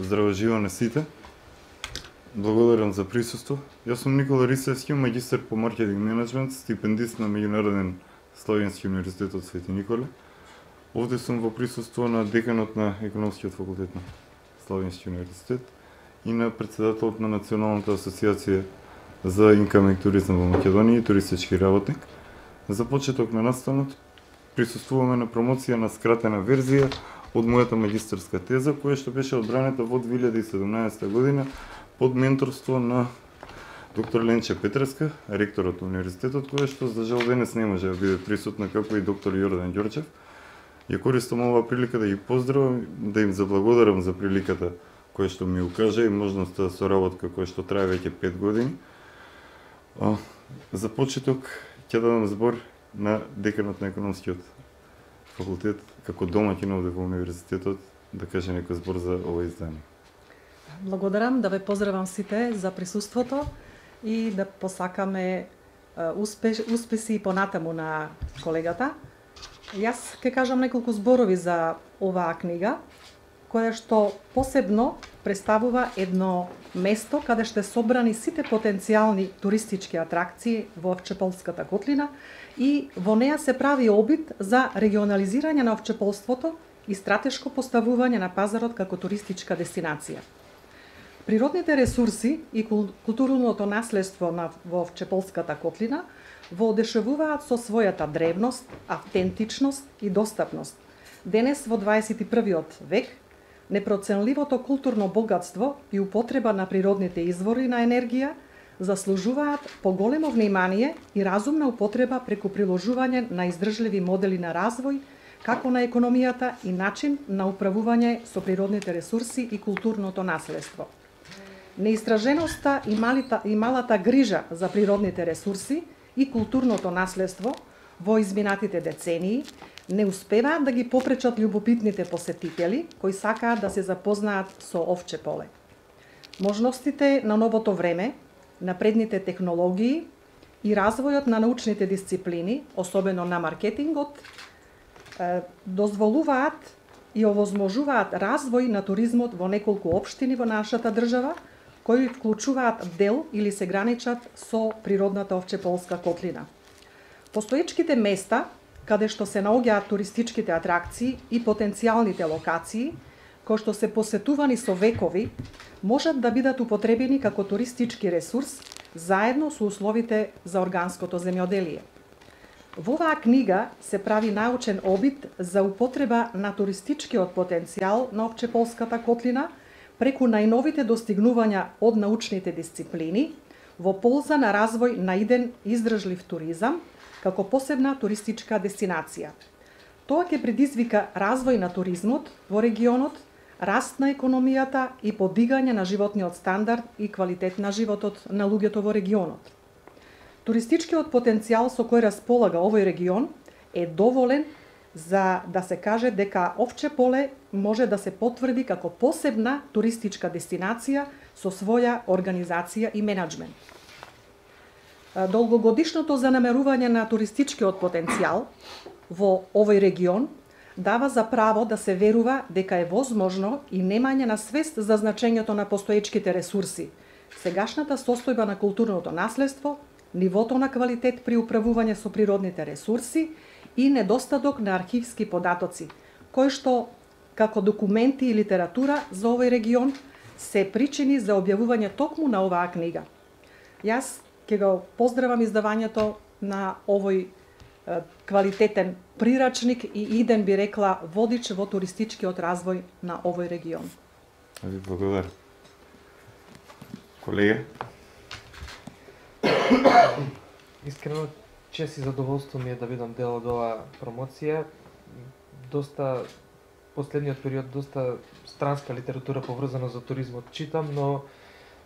Здраво живо на сите. Благодарам за присуство. Јас сум Никола Рисевски, магистар по маркетинг менеджмент, стипендист на Меѓународен Славенски универзитет од Свети Николе. Овде сум во присуство на деканот на економскиот факултет на Славенски универзитет и на претседателот на Националната асоциација за инкаминг туризам во Македонија и туристички работник. За почеток на настанот присуствуваме на промоција на скратена верзија од мојата магистарска теза, која што беше одбранета во 2017 година под менторство на доктор Ленче Петреска, ректорот на универзитетот, која што за жал денес не може да биде присутна, како и доктор Јордан Ѓорчев. Ја користам оваа прилика да ги поздравам, да им заблагодарам за приликата која што ми укажа и можноста за соработка која што трае веќе 5 години. За почеток ќе дадам збор на деканот на економскиот факултет, како домаќин овде во универзитетот, да каже некој збор за ова издание. Благодарам, да ве поздравам сите за присуството и да посакаме успеси и понатаму на колегата. Јас ќе кажам неколку зборови за оваа книга, која што посебно представува едно место каде што собрани сите потенцијални туристички атракции во Овчеполската котлина и во неа се прави обид за регионализирање на овчеполството и стратешко поставување на пазарот како туристичка дестинација. Природните ресурси и културното наследство во Овчеполската котлина во одешевуваат со својата древност, автентичност и достапност. Денес во 21. век непроценливото културно богатство и употреба на природните извори на енергија заслужуваат поголемо внимание и разумна употреба преку приложување на издржливи модели на развој, како на економијата и начин на управување со природните ресурси и културното наследство. Неистраженоста и малата грижа за природните ресурси и културното наследство во изминатите децении не успеваат да ги попречат љубопитните посетители кои сакаат да се запознаат со Овчеполе. Можностите на новото време, напредните технологии и развојот на научните дисциплини, особено на маркетингот, дозволуваат и овозможуваат развој на туризмот во неколку општини во нашата држава, кои вклучуваат дел или се граничат со природната Овчеполска котлина. Постоечките места, каде што се наоѓаат туристичките атракции и потенцијалните локации, кои што се посетувани со векови, можат да бидат употребени како туристички ресурс заедно со условите за органското земјоделие. Во оваа книга се прави научен обид за употреба на туристичкиот потенцијал на Овчеполската котлина преку најновите достигнувања од научните дисциплини во полза на развој на иден издржлив туризам како посебна туристичка дестинација. Тоа ќе предизвика развој на туризмот во регионот, раст на економијата и подигање на животниот стандард и квалитет на животот на луѓето во регионот. Туристичкиот потенцијал со кој располага овој регион е доволен за да се каже дека Овчеполе може да се потврди како посебна туристичка дестинација со своја организација и менеджмент. Долгогодишното занемарување на туристичкиот потенцијал во овој регион дава за право да се верува дека е возможно и немање на свест за значењето на постоечките ресурси, сегашната состојба на културното наследство, нивото на квалитет при управување со природните ресурси и недостаток на архивски податоци, кои што, како документи и литература за овој регион, се причини за објавување токму на оваа книга. Јас ќе го поздравам издавањето на овој квалитетен прирачник и иден, би рекла, водич во туристичкиот развој на овој регион. Ви благодарам. Колега? Искрено, чест и задоволство ми е да бидам дел од оваа промоција. Последниот период доста странска литература поврзана за туризмот читам, но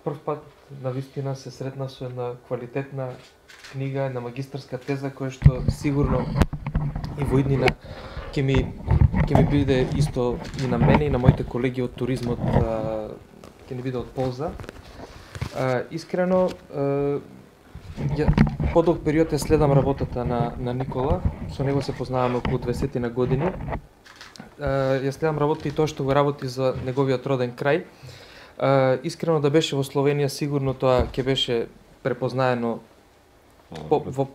прв пат навистина се сретнав со една квалитетна книга, една магистарска теза која што сигурно и во иднина ќе ми биде исто и на мене и на моите колеги од туризмот ќе ни биде од полза. Искрено, подолг период следам работата на Никола, со него се познаваме околу 20 години. ја следам работи и тоа што го работи за неговиот роден крај. Искрено да беше во Словенија, сигурно тоа ќе беше препознаено во,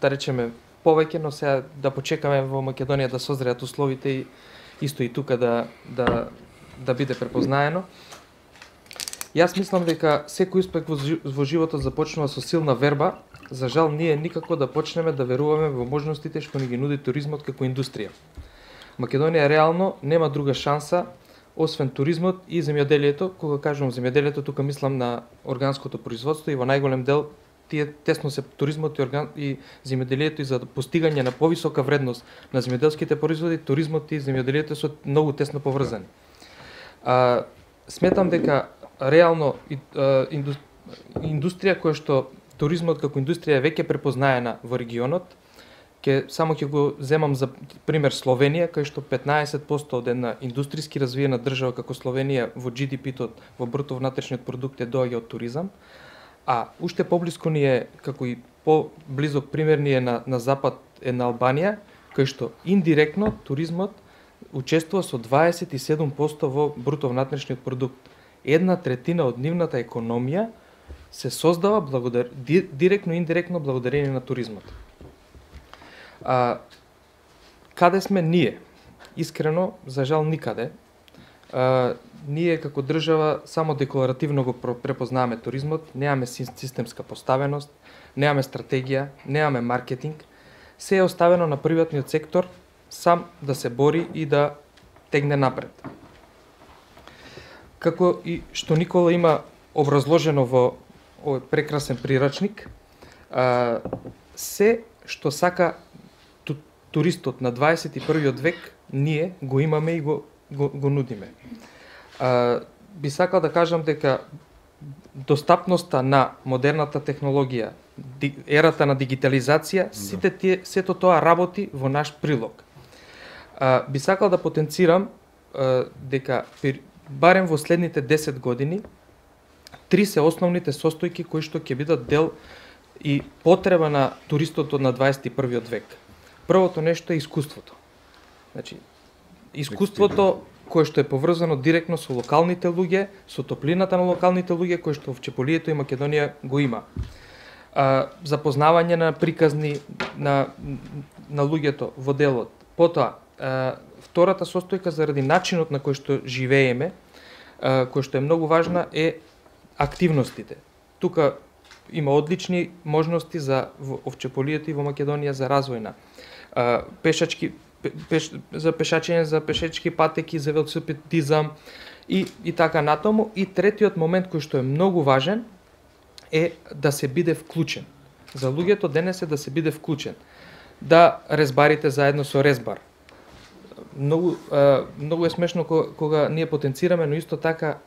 да речеме, повеќе, но сега да почекаме во Македонија да созреат условите и исто и тука да биде препознаено. Јас мислам дека секој успех во животот започнува со силна верба. За жал, ние никако да почнеме да веруваме во можностите што ни ги нуди туризмот како индустрија. Македонија реално нема друга шанса освен туризмот и земјоделието. Кога кажувам земјоделието, тука мислам на органското производство и во најголем дел тие тесно се туризмот и земјоделието и за постигање на повисока вредност на земјоделските производи, туризмот и земјоделието се многу тесно поврзани. Сметам дека реално индустрија која што туризмот како индустрија е веќе препознаена во регионот, само ќе го земам за пример Словенија, кај што 15% од една индустријски развиена држава како Словенија во GDP-тот, во бруто внатрешниот продукт е доаѓа од туризам, а уште поблиску ни е, како и по-близок пример ни е на запад е на Албанија, кај што индиректно туризмот учествува со 27% во бруто внатрешниот продукт. 1/3 од нивната економија се создава директно и индиректно благодарение на туризмот. Каде сме ние? Искрено, за жал никаде. Ние како држава само декларативно го препознаваме туризмот, немаме системска поставеност, немаме стратегија, немаме маркетинг. Се е оставено на приватниот сектор сам да се бори и да тегне напред. Како и што Никола има образложено во овој прекрасен прирачник, се што сака туристот на 21. век, ние го имаме и го нудиме. Би сакал да кажам дека достапноста на модерната технологија, ерата на дигитализација, сето тоа работи во наш прилог. Би сакал да потенцирам дека барем во следните 10 години 3 се основните состојки кои што ќе бидат дел и потреба на туристот на 21. век. Првото нешто е искуството. Значи, искуството кое што е поврзано директно со локалните луѓе, со топлината на локалните луѓе, кои што в Чеполието и Македонија го има. Запознавање на приказни на луѓето во делот. Потоа, втората состојка заради начинот на кој што живееме, кој што е многу важна, е активностите. Тука има одлични можности за Овчеполието и во Македонија за развојна. За пешачење, за пешечки патеки, за велосипедизам и така натаму. И третиот момент кој што е многу важен е да се биде вклучен. За луѓето денес е да се биде вклучен. Да резбарите заедно со резбар. Многу е смешно кога ние потенцираме, но исто така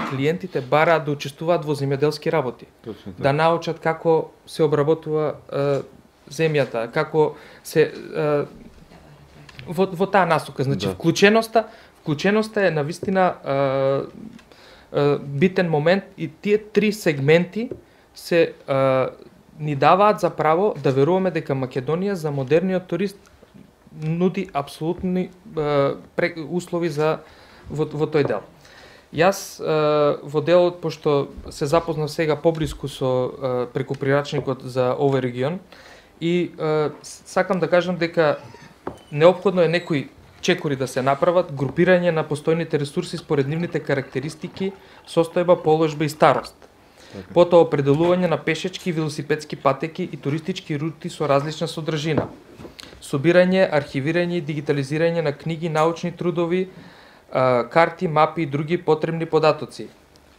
клиентите бараат да учествуваат во земјоделски работи. Да научат како се обработува земјата, како се во таа насока. Значи вклученоста е навистина битен момент и тие три сегменти се ни даваат за право да веруваме дека Македонија за модерниот турист нуди апсолутни услови во тој дел. Јас во делот, пошто се запознав сега поблиску со преку прирачникот за овој регион и сакам да кажам дека неопходно е некои чекори да се направат, групирање на постојните ресурси според нивните карактеристики, состојба, положба и старост. Потоа определување на пешечки, велосипедски патеки и туристички рути со различна содржина. Собирање, архивирање и дигитализирање на книги, научни трудови, карти, мапи и други потребни податоци.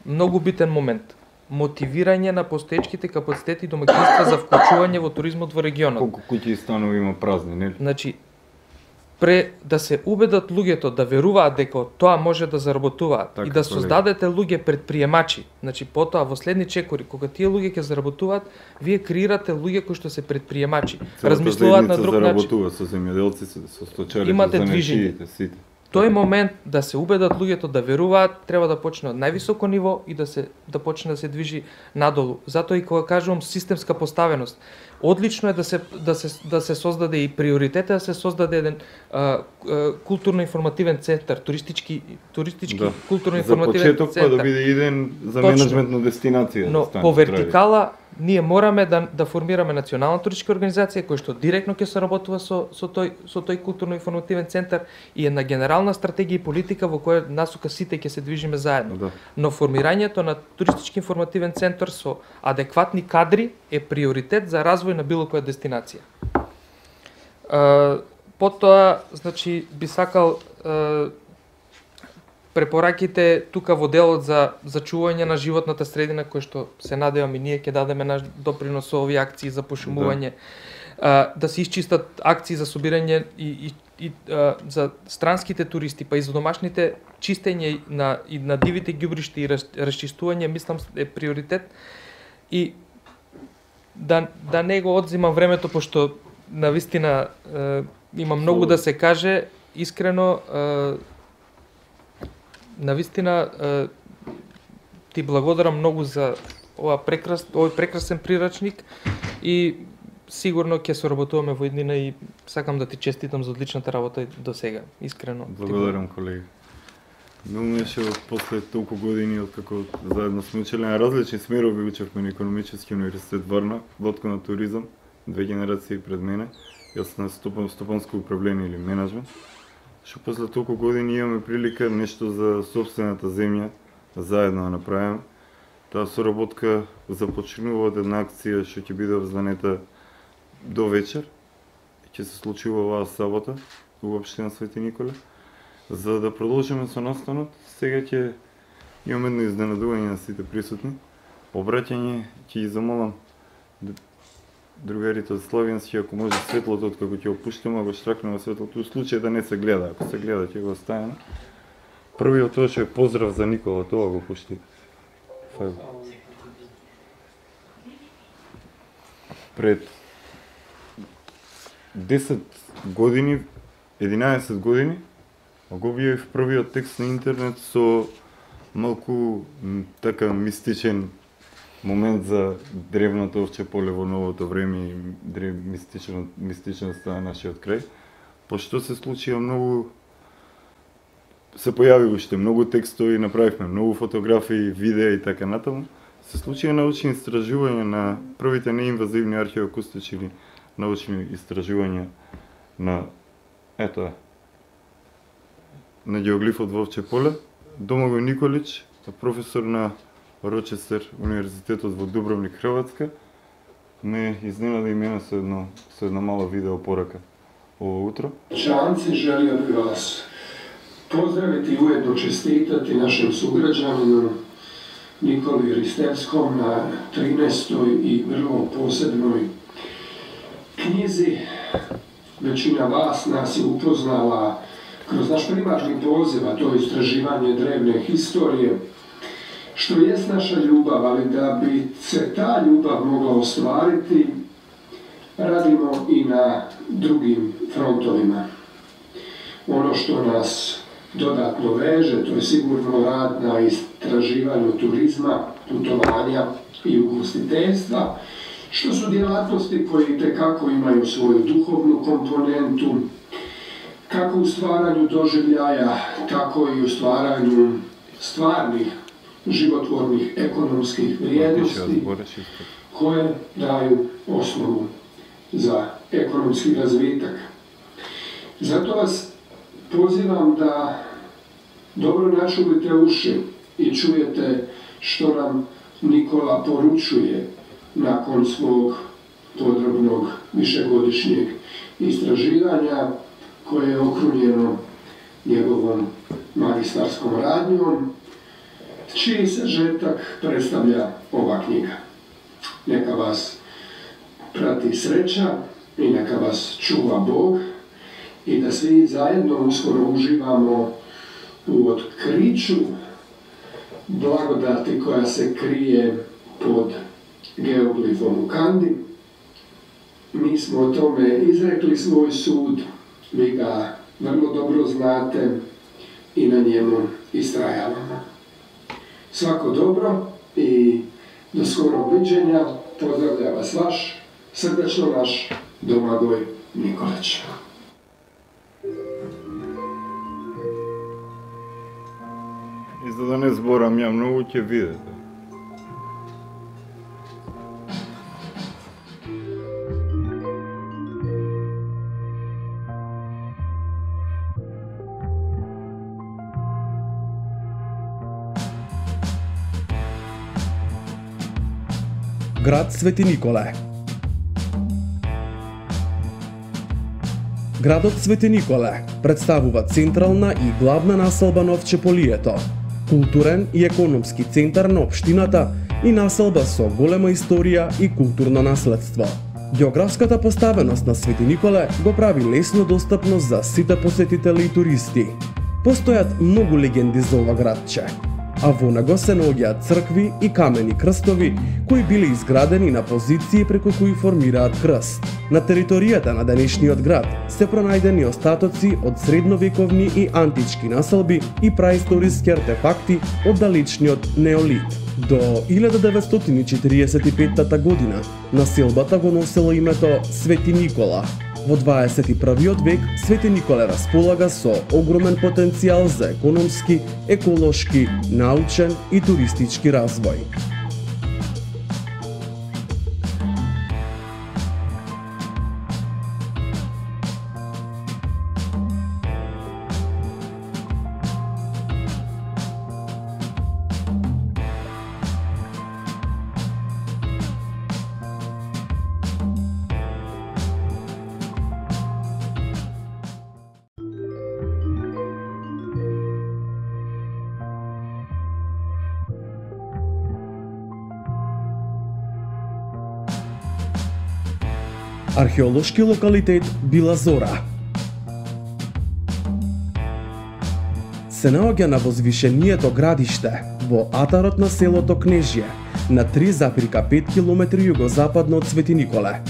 Многу битен момент. Мотивирање на постоечките капацитети домаќинства за вклучување во туризмот во регионот. Колку куќи и станови има празни, нели? Значи, да се убедат луѓето да веруваат дека тоа може да заработуваат така, и да создадете луѓе предприемачи. Значи потоа во следни чекори кога тие луѓе ќе заработуваат, вие креирате луѓе кои што се предприемачи, размислуваат на друг начин. Заработува со земјоделци, со сточари, имате движење. тој момент да се убедат луѓето да веруваат, треба да почне од највисоко ниво и да почне да се движи надолу. Затоа и кога кажувам системска поставеност, одлично е да се создаде и приоритет да се создаде еден културно-информативен центар, туристички културно-информативен центар. За почеток центар. да биде иден за менеджмент на дестинација. Но по вертикала ние мораме да формираме национална туристичка организација која што директно ќе соработува со тој културно-информативен центар и една генерална стратегија и политика во која насока сите ќе се движиме заедно. Да. Но формирањето на туристички информативен центар со адекватни кадри е приоритет за развој на било која дестинација. Потоа, значи, би сакал препораките тука во делот за зачување на животната средина, кој што се надевам и ние ќе дадеме наш допринос со овие акции за пошумување, да се исчистат акции за собирање и за странските туристи, па и за домашните чистење на дивите ѓубришта и расчистување, мислам е приоритет. И да не го одзимам времето, пошто навистина има многу да се каже, искрено навистина ти благодарам многу за овој прекрасен прирачник и сигурно ќе соработуваме во иднина и сакам да ти честитам за одличната работа до сега, искрено. Благодарам, колеги. Милнеше после толку години откако заедно сме учеле на различни смерови, учевме на Економически универзитет Варна, лодка на туризам, 2 генерации пред мене, јас на стопанско управление или менеджмент. Што после толку години имаме прилика нешто за собствената земја заедно да направиме. Таа соработка започнува од една акција што ќе биде обзнанета до вечер. Ќе се случува оваа сабота во општина Свети Николе. За да продолжиме со настанот, сега ќе имаме едно изненадување на сите присутни. Обраќање ќе ги замолам другарите од Славјански, ако може светлото откако ќе опуштиме, ако штракнеме светлото, у случај да не се гледа, ако се гледа ќе го оставиме. Првиот тоа што е поздрав за Никола, тоа го пушти. Пред 10 години, 11 години, го објавив првиот текст на интернет со малку така мистичен момент за древното овче поле во новото време и мистичноста на нашиот крај. Пошто се случија многу, се појави уште многу текстови, направивме многу фотографии, видеа и така натаму. Се случија научни истражувања на првите неинвазивни археоакустични или научни истражувања на на геоглифот во овче поле. Домагој Николич, професор на Рочестер универзитетот во Дубровник, Хрватска, ме изненади и мене со една мала видео порака ово утро. Čanci, želio bih vas pozdraviti i ujedno čestitati našem sugrađaninu Nikoli Ristevskom na 13. i vrlo posebnoj knjizi. Većina vas nas je upoznala kroz naš primarni poziv, a to je istraživanje drevne historije, što jest naša ljubav, ali da bi se ta ljubav mogla ostvariti, radimo i na drugim frontovima. Ono što nas dodatno veže, to je sigurno rad na istraživanju turizma, putovanja i ugostiteljstva, što su djelatnosti koje itekako imaju svoju duhovnu komponentu, kako u stvaranju doživljaja, tako i u stvaranju stvarnih, životvornih, ekonomskih vrijednosti koje daju osnovu za ekonomski razvitak. Zato vas pozivam da dobro načulite uši i čujete što nam Nikola poručuje nakon svog podrobnog višegodišnjeg istraživanja koje je okrunjeno njegovom magistarskom radnjom, čiji sažetak predstavlja ova knjiga. Neka vas prati sreća i neka vas čuva Bog i da svi zajedno uskoro uživamo u otkriću blagodati koja se krije pod geoglifom u Kandi. Mi smo o tome izrekli svoj sud, vi ga vrlo dobro znate, i na njemu istrajavamo. Svako dobro i do skorog viđenja. Pozdravlja vas vaš, srdačno naš Domagoj Nikolić. И за да не зборам ја многу, ќе видите. Град Свети Николе. Градот Свети Николе представува централна и главна населба на Овчеполието, културен и економски центар на општината и населба со голема историја и културно наследство. Географската поставеност на Свети Николе го прави лесно достапно за сите посетители и туристи. Постојат многу легенди за ова градче, а во него се наоѓаат цркви и камени крстови кои биле изградени на позиции преку кои формираат крст. На територијата на денешниот град се пронајдени остатоци од средновековни и антички населби и праисториски артефакти од далечниот неолит. До 1945 година населбата го носела името Свети Никола. Во 21 век Свети Николе располага со огромен потенцијал за економски, еколошки, научен и туристички развој. Археолошки локалитет Била Зора се наоѓа на возвишението градиште во атарот на селото Кнежје, на 3,5 км југозападно од Свети Николе.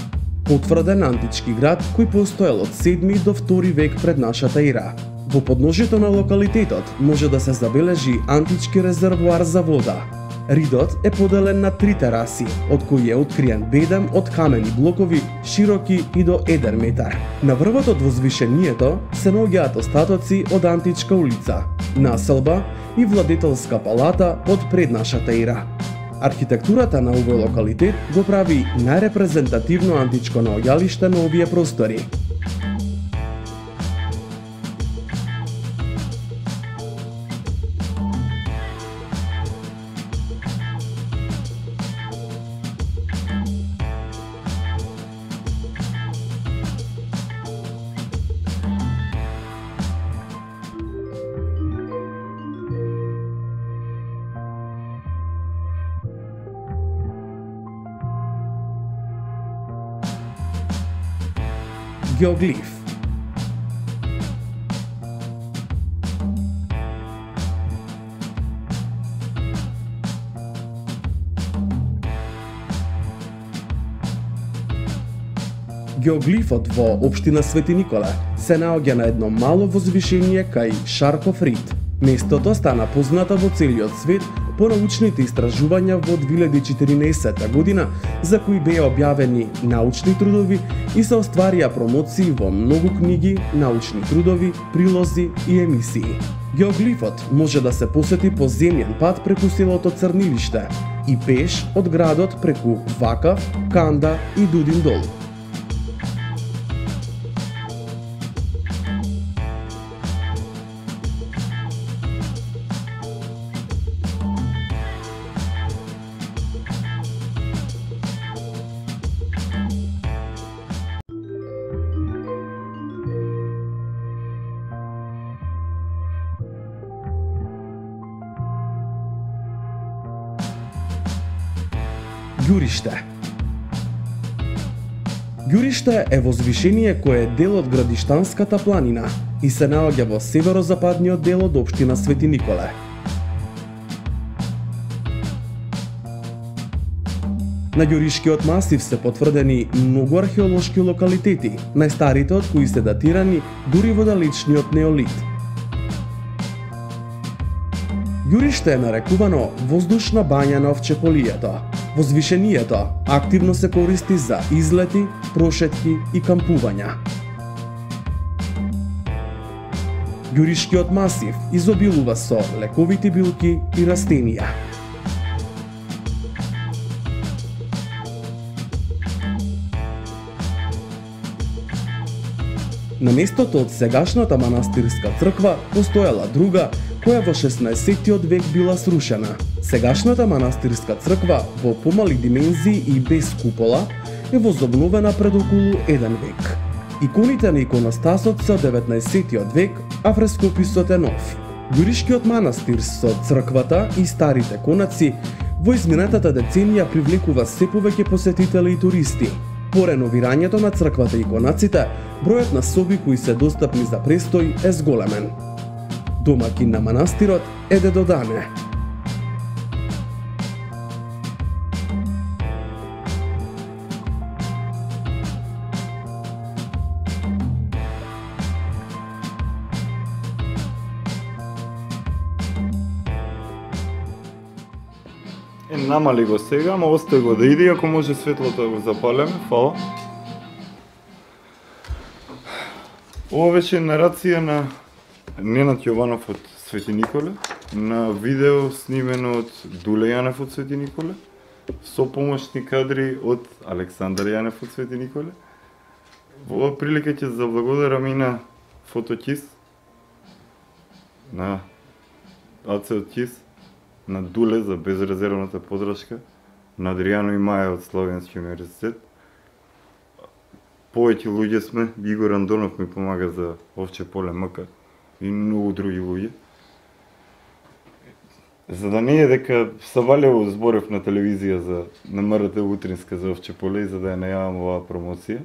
Потврден антички град кој постоел од 7 до 2 век пред нашата ера. Во подножието на локалитетот може да се забележи антички резервоар за вода. Ридот е поделен на 3 тераси, од кои е откриен бедем од камени блокови, широки и до 1 метар. На врвот од возвишението се наоѓаат остатоци од античка улица, населба и владетелска палата од пред нашата ера. Архитектурата на овој локалитет го прави најрепрезентативно античко наоѓалиште на овие простори. Геоглиф. Геоглифот во општина Свети Николе се наоѓа на едно мало возвишение кај Шарков Рид. Местото стана познато во целиот свет по научните истражувања во 2014 година, за кои беа објавени научни трудови и се остварија промоции во многу книги, научни трудови, прилози и емисии. Геоглифот може да се посети по земјен пат преку селото Црнилиште и пеш од градот преку Вакав, Канда и Дудин Дол. Ѓуриште. Ѓуриште е возвишение кое е дел од Градиштанската планина и се наоѓа во северозападниот дел од општина Свети Николе. На Ѓуришкиот масив се потврдени многу археолошки локалитети, најстарите од кои се датирани дури во далечниот неолит. Ѓуриште е нарекувано воздушна бања на Овчеполието. Возвишението активно се користи за излети, прошетки и кампувања. Ѓуришкиот масив изобилува со лековити билки и растенија. На местото од сегашната манастирска црква постоела друга, која во 16-тиот век била срушена. Сегашната манастирска црква во помали димензии и без купола е возобновена пред околу 1 век. Иконите на иконостасот се од 19-тиот век, а фрескописот е нов. Ѓуришкиот манастир со црквата и старите конаци во изминатата деценија привлекува се повеќе посетители и туристи. По реновирањето на црквата и конаците, бројот на соби кои се достапни за престој е зголемен. Домакин на манастирот е дедо Дане. Намали го сега, ама остави го да иде, ако може светлото да го запалеме, фала. Ова беше нарација на Ненад Јованов од Свети Николе, на видео снимено од Дуле Јанев од Свети Николе, со помошни кадри од Александар Јанев од Свети Николе. Во оваа прилика ќе заблагодарам и на Фотокис, на Ацел Кис, на Дуле за безрезервната подршка, на Адријано и Маја од Славенски универзитет. Повеќе луѓе сме, Игор Андонов ми помага за Овче поле МК и многу други луѓе. За да не е дека Савалево зборев на телевизија за на МРТ утринска за Овче поле и за да ја најавам оваа промоција,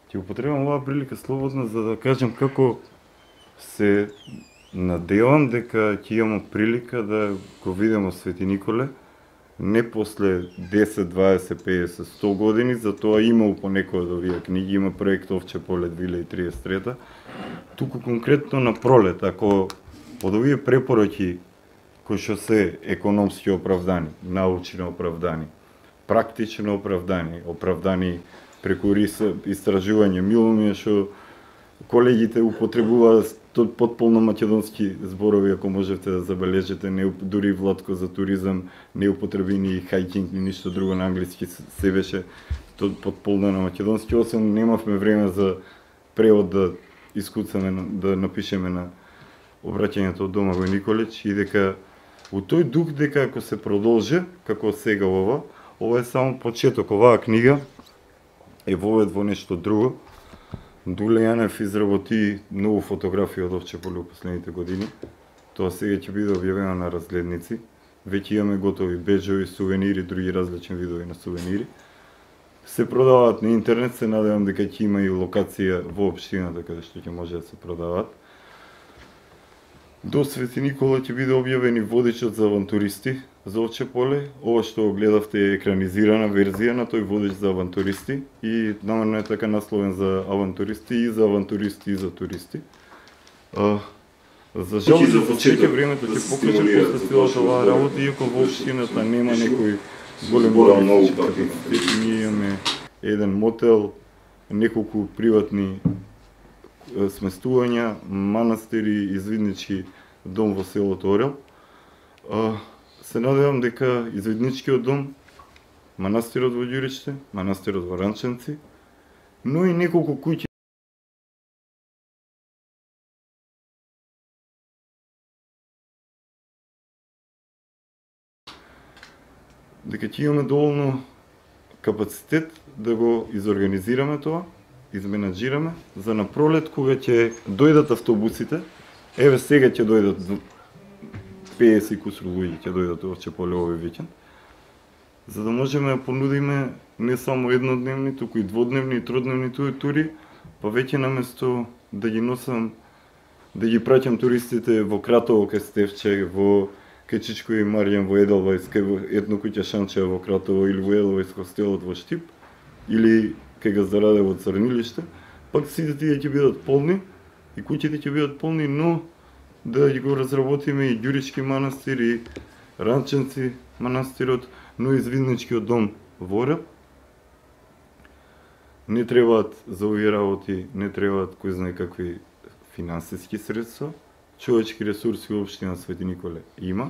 ќе употребам оваа прилика слободно за да кажам како се надевам дека ќе имаме прилика да го видиме Свети Николе не после 10, 20, 50, 100 години, затоа имал по некоја од овие книги, има проект Овче поле 2033, туку конкретно на пролет, ако од овие препороки кои што се економски оправдани, научно оправдани, практично оправдани преку истражување, мило ми е што колегите употребуваат потполно македонски зборови, ако можете да забележите, не дури Владко за туризам, не употреби ни хајкинг, ни ништо друго на англиски, се беше потполно на македонски, освен немавме време за превод да искуцаме, да напишеме на обраќањето од Домагој Николич и дека у тој дух дека ако се продолжи, како сега ова е само почеток, оваа книга е вовед во нешто друго. Дуле Јанев изработи многу фотографии од Овче поле во последните години. Тоа сега ќе биде објавено на разгледници. Веќе имаме готови беџови, сувенири, други различни видови на сувенири. Се продаваат на интернет, се надевам дека ќе има и локација во општината каде што ќе може да се продаваат. До Свети Никола ќе биде објавен и водичот за авантуристи за Овче поле. Ова што го гледавте е екранизирана верзија на тој водич за авантуристи и намерно е така насловен за авантуристи и за туристи. За жал за почеток времето ќе покаже после целата оваа работа, иако во општината нема некој голем туристички капацитет. Ние имаме еден мотел, неколку приватни сместувања, манастири, извиднички дом во селото Орел. Се надевам дека извидничкиот дом, манастирот во Ѓуричте, манастирот во Ранченци, но и неколку куќи дека ќе имаме доволно капацитет да го изорганизираме тоа, изменаџираме за на пролет кога ќе дојдат автобусите. Еве сега ќе дојдат 50 и кусур луѓе ќе дојдат во Овче поле овој викенд, за да можеме да понудиме не само еднодневни, туку и дводневни и тродневни тури, па веќе наместо да ги носам, да ги праќам туристите во Кратово кај Стевче, во Кечичко и Марјан во Еделвајс, кај етно куќа Шанчева во Кратово или во Еделвајс хостелот во Штип, или кај Газдараде во Црнилиште, пак сите тие ќе бидат полни и куќите ќе бидат полни, но да ги го разработиме и Ѓурички манастир и Ранченци манастирот, но и Звизничкиот дом во Орел. Не требаат за овие работи, не требаат кој знае какви финансиски средства, човечки ресурси во општина Свети Николе има.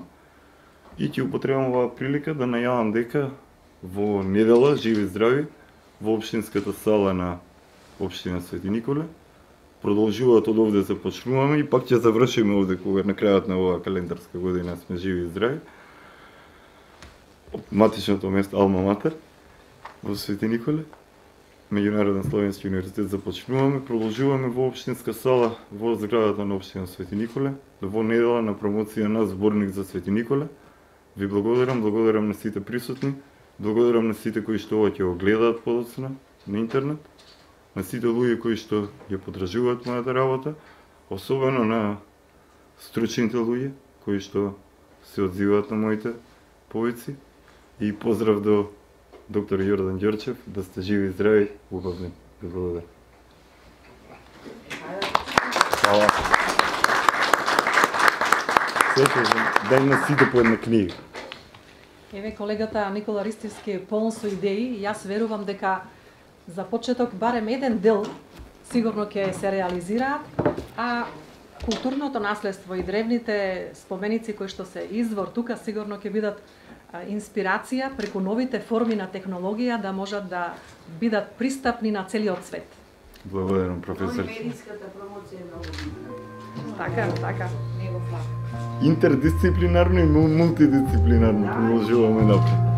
И ќе употребам оваа прилика да најавам дека во недела, живи и здрави, во општинската сала на општина Свети Николе продолжуваат од овде започнуваме и пак ќе завршиме овде кога на крајот на оваа календарска година сме живи и здрави. Матичното место Алма Матер во Свети Николе, Меѓународен Словенски универзитет започнуваме, продолжуваме во општинска сала во зградата на општина Свети Николе, во недела на промоција на зборник за Свети Николе. Ви благодарам на сите присутни, благодарам на сите кои што ова ќе го гледаат подоцна на интернет, на сите луѓе кои што ја поддржуваат мојата работа, особено на стручните луѓе кои што се одзиваат на моите повици и поздрав до доктор Јордан Ѓорчев, да сте живи и здрави, убавни. Ви благодарам. Хвала. Дај на сите по една книга. Еве колегата Никола Ристевски е полн со идеи и јас верувам дека за почеток барем еден дел сигурно ќе се реализираат, а културното наследство и древните споменици кои што се извор тука сигурно ќе бидат инспирација преку новите форми на технологија да можат да бидат пристапни на целиот свет. Благодарам, професор. Медиската промоција е многу битна. Така. Него факт. Интердисциплинарно и мултидисциплинарно продолжуваме напред.